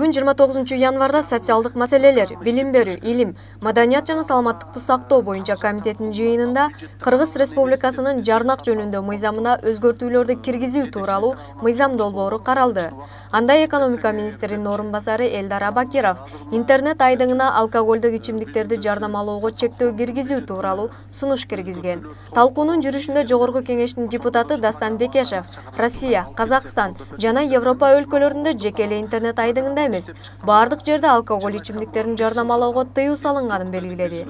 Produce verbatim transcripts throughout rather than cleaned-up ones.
Бүгүн жыйырма тогузунчу январда социалдык маселелер, билим берүү, илим, маданият жана саламаттыкты сактоо боюнча комитеттин жыйынында Кыргыз Республикасынын жарнак жөнүндө мыйзамына өзгөртүүлөрдү киргизүү тууралуу мыйзам долбоору каралды. Анда экономика министринин орун басары Элдар Абакиров интернет айдыңына алкоголдук ичимдиктерди жарнамалоого чектөө киргизүү тууралуу сунуш киргизген. Талкуунун жүрүшүндө Жогорку кеңештин депутаты Дастан Бекешев Россия, Казакстан жана Европа өлкөлөрүндө жеке эле интернет айдыңында эмес, бардык жерде алкоголь ичимдиктерин жарнамалоого тыюу салынганын белгиледи.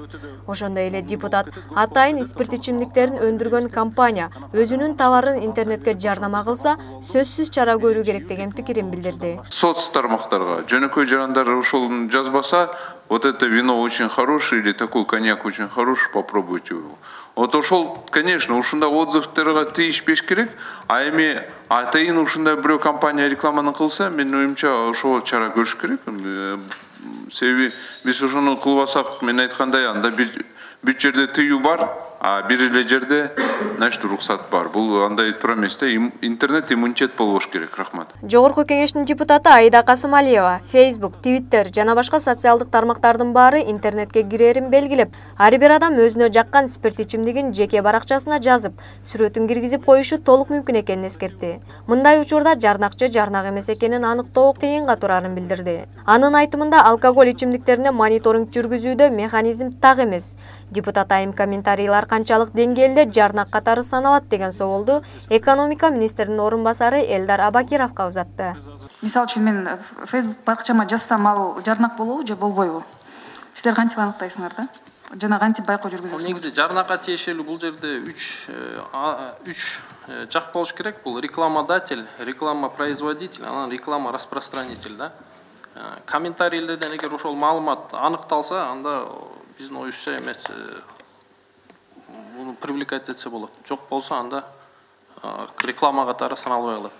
Ошондой эле депутат атайын спирт ичимдиктерин өндүргөн компания өзүнүн товарын интернетке жарнама кылса, сөзсүз чара көрүү керек деген пикирин билдирди. Соц тармактарга жөнөкөй жарандар ошол жазбаса, вот это вино очень хорошее или такой коньяк очень хороший, попробуйте его. Вот ошол, конечно, ушундай отзывдарга тийишпеш керек, а эми атайын ушундай бирөө компания рекламаны кылса, менин оюмча ошол чара көрүш керек. Себеби биз ошону кылбасак, мен айткандай, анда бүт жерде тыюу бар, а бир эле жерде значит уруксат бар. Бул андай тура эмес да, интернет иммунитет болбош керек. Рахмат. Жогорку кеңештин депутаты Аида Касымалиева Facebook, Twitter жана башка социалдык тармактардын баары интернетке кирерин белгилеп, ар бир адам өзүнө жаккан спирт ичимдигин жеке баракчасына жазып, сүрөтүн киргизип коюшу толук мүмкүн экенин эскертти. Мындай учурда жарнакчы жарнак эмес экенин аныктоо кыйынга турарын билдирди. Анын айтымында алкоголь ичимдиктерине мониторинг жүргүзүүдө механизм так эмес. Депутат айым комментарийлар канчалык деңгээлде жарнак катары саналат деген соолду экономика министринин орун басары Элдар Абакировго узатты. Мисалы үчүн мен Facebook баракчама жазсам, ал жарнак болобу же болбойбу? Силер кантип аныктайсыңар да? Жана кантип байкоо жүргүзөсүңөр? Негизи жарнакка тиешелүү бул жерде үч үч жак болуш керек. Бул рекламодатель, реклама производитель, анан реклама распространитель да. Комментарийлерден эгер ошол маалымат аныкталса, анда биздин оюшча эмес буну привлекать этсе болот. Жок болсо анда реклама катары саналбай калат.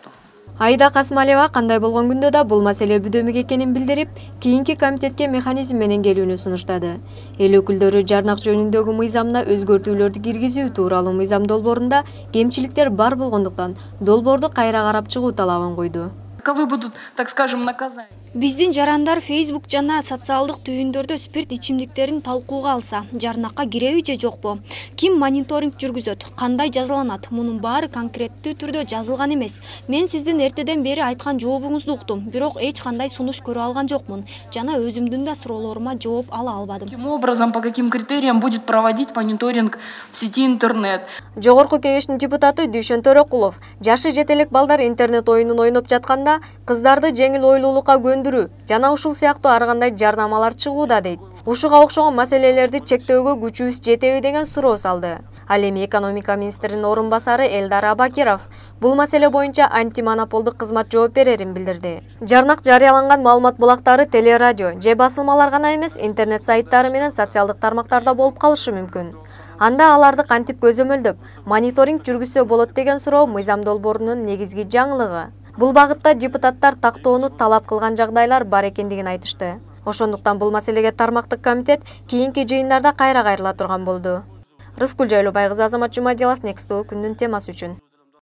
Аида Касымалиева кандай болгон күндө да бул маселе бүдөмүк экенин билдирип, кийинки комитетке механизм менен келүүнү сунуштады. Эл өкүлдөрү жарнак жөнүндөгү мыйзамына өзгөртүүлөрдү киргизүү тууралуу мыйзам долбоорунда кемчиликтер бар болгондуктан долбоорду кайра карап чыгуу талабын койду. Каковы будут, так скажем, наказания? Биздин жарандар Facebook жана социалдык түйүндөрдө спирт ичимдиктерин талкууга алса, жарнакка киреби же жокпу? Ким мониторинг жүргүзөт? Кандай жазаланат? Мунун баары конкреттүү түрдө жазылган эмес. Мен сиздин эртеден бери айткан жообуңузду уктум, бирок эч кандай сунуш көрө алган жокмун жана өзүмдүн да суроолорума жооп ала албадым. Каким образом, по каким критериям будет проводить мониторинг в сети интернет? Жогорку кеңештин депутаты Дүйшөн Төрөкулов жашы жете элек балдар интернет оюнун ойноп жатканда кыздарды жеңил ойлуулукка көндүрүү жана ушул сыяктуу ар кандай жарнамалар чыгууда дейт. Ушуга окшогон маселелерди чектөөгө күчүбүз жетеби деген суроо салды. Ал эми экономика министринин орун басары Элдар Абакиров бул маселе боюнча антимонополдук кызмат жооп берерин билдирди. Жарнак жарыяланган маалымат булактары телерадио же басылмалар гана эмес, интернет сайттары менен социалдык тармактарда болуп калышы мүмкүн. Анда аларды кантип көзөмөлдөп, мониторинг жүргүзсө болот деген суроо мыйзам долбоорунун негизги жаңылыгы. Бул багытта депутаттар тактоону талап кылган жагдайлар бар экендигин айтышты. Ошондуктан бул маселеге тармактык комитет кийинки жыйындарда кайра кайрыла турган болду. Рыскүл Жайлообай кызы, Азамат Жумадилов, Next күндүн темасы үчүн.